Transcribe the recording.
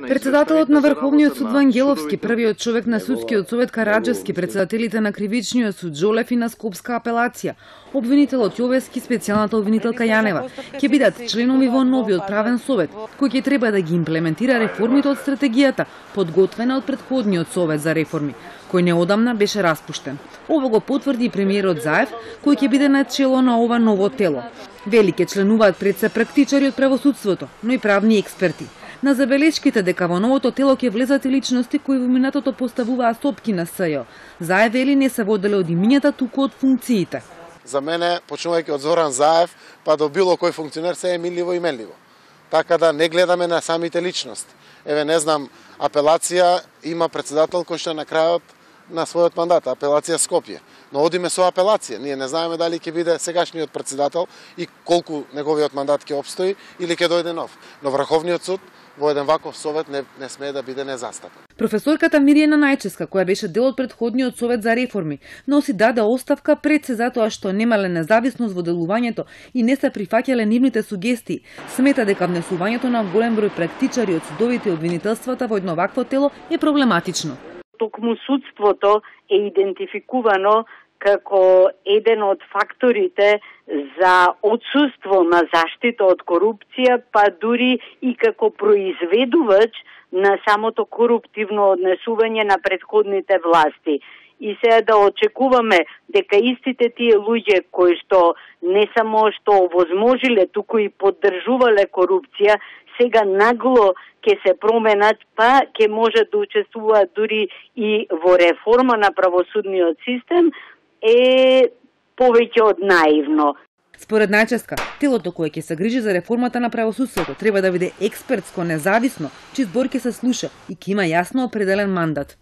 Председателот на Врховниот суд Вангеловски, првиот човек на судскиот совет Караджевски, председателите на Кривичниот суд Жолев и на Скопска апелација, обвинителот Јовески, специјалната обвинителка Јанева, ќе бидат членови во новиот правен совет, кој ќе треба да ги имплементира реформите од стратегијата, подготвена од претходниот совет за реформи, кој неодамна беше распуштен. Ово го потврди и премиерот Заев, кој ќе биде на чело на ова ново тело. Вели ќе членуваат пред се практичари од правосудството, но и правни експерти. На забелешките дека во новото тело ќе влезат и личности кои во минатото поставуваа стопки на СЈО. Заев вели не се воделе од имињата, туку од функциите. За мене, почнувајќи од Зоран Заев, па до било кој функционер се е милливо и менливо. Така да не гледаме на самите личности. Еве, не знам, апелација има председател кој што на крајот на својот мандат, апелација Скопје. Но одиме со апелација. Ние не знаеме дали ќе биде сегашниот председател и колку неговиот мандат ќе обстои или ќе дојде нов. Но Врховниот суд во еден ваков совет не смее да биде незастапен. Професорката Миријана Најческа, која беше дел од претходниот совет за реформи, носи даде оставка пред се затоа што немале независност во делувањето и не се прифаќале нивните сугестии. Смета дека внесувањето на голем број практичари од судовите и обвинителствата во едно вакво тело е проблематично. Токму судството е идентификувано како еден од факторите за отсуство на заштита од корупција, па дури и како произведувач на самото коруптивно однесување на претходните власти. И сега да очекуваме дека истите тие луѓе кои што не само што овозможиле, туку и поддржувале корупција, сега нагло ќе се променат, па ќе можат да учествуваат дури и во реформа на правосудниот систем, е повеќе од наивно. Според Најческа, телото кое ќе се грижи за реформата на правосудството треба да биде експертско, независно, чиј збор ќе се слуша и ќе има јасно определен мандат.